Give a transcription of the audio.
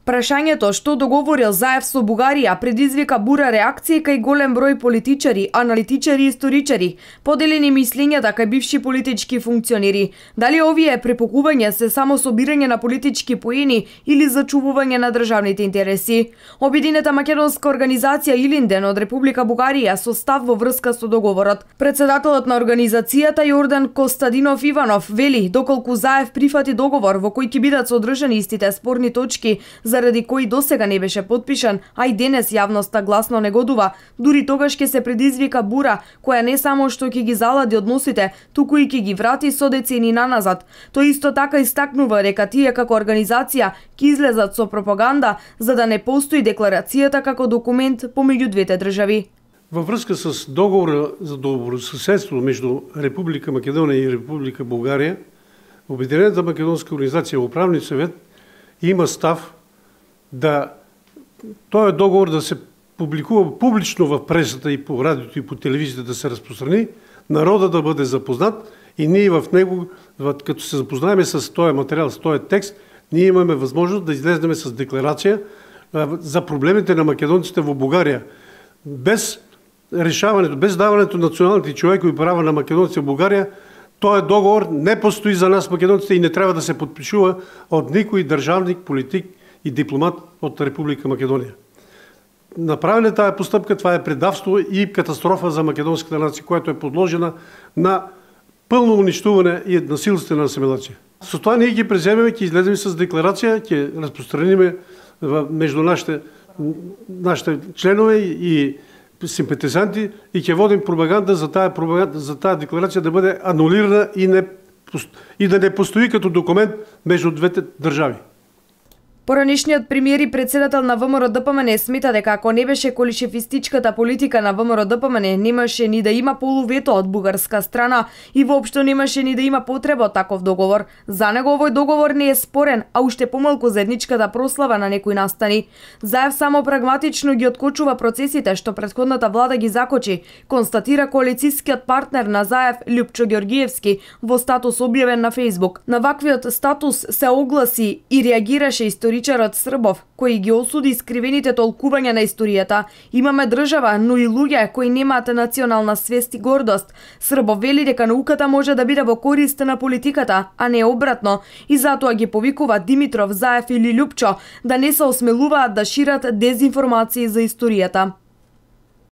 Прашањето што договорил Заев со Бугарија предизвика бура реакции кај голем број политичари, аналитичари и историчари, поделени мислењата кај бивши политички функционери. Дали овие препокување се само собирање на политички поени или зачувување на државните интереси? Обединета македонска организација Илинден од Република Бугарија со став во врска со договорот. Председателот на организацијата Јордан Костадинов Иванов вели доколку Заев прифати договор во кој ќе бидат содржани истите спорни точки заради кои досега не беше потпишан, а и денес јавноста гласно негодува, дури тогаш ќе се предизвика бура која не само што ќе ги залади односите, туку и ќе ги врати со децени наназад. Тој исто така истакнува дека тие како организација ќе излезат со пропаганда за да не постои декларацијата како документ помеѓу двете држави. Во врска с договор за добрососедство меѓу Република Македонија и Република Бугарија, Обединената македонска организација Управни совет има став да тој договор да се публикува публично во пресата и по радиото и по телевизијата да се распространи, народот да биде запознат и ние в него, като се запознаеме с тој материјал, с тој текст, ние имаме возможност да излезнеме с декларација за проблемите на македонците во Бугарија. Без решаването, без даването на националните човекови права на македонците во Бугарија, тој договор не постои за нас македонците и не треба да се подпишува од никој државник, политик и дипломат од Република Македонија. Направиле таа постапка, това е предавство и катастрофа за македонската нација, която е подложена на пълно уништување и насилствена асимилација. Со тоа ние ќе преземеме, ќе излеземе с декларација, ќе распространиме меѓу нашите членове и симпатизанти и ќе водим пропаганда за таа декларација да биде анулирана и да не постои като документ меѓу двете држави. Поранешниот премиер и председател на ВМРО-ДПМН смета дека ако не беше колишевистичката политика на ВМРО-ДПМН, немаше ни да има полувето од бугарска страна и воопшто немаше ни да има потреба од таков договор. За него овој договор не е спорен, а уште помалку заедничката прослава на некои настани. Заев само прагматично ги откочува процесите што претходната влада ги закочи, констатира коалицискиот партнер на Заев Љупчо Ѓоргиевски во статус објавен на Facebook. На ваквиот статус се огласи и реагираше историчарот Србов, кој ги осуди искривените толкувања на историјата. Имаме држава, но и луѓе кои немаат национална свест и гордост. Србов вели дека науката може да биде во корист на политиката, а не обратно, и затоа ги повикува Димитров, Заев или Љупчо да не се осмелуваат да шират дезинформации за историјата.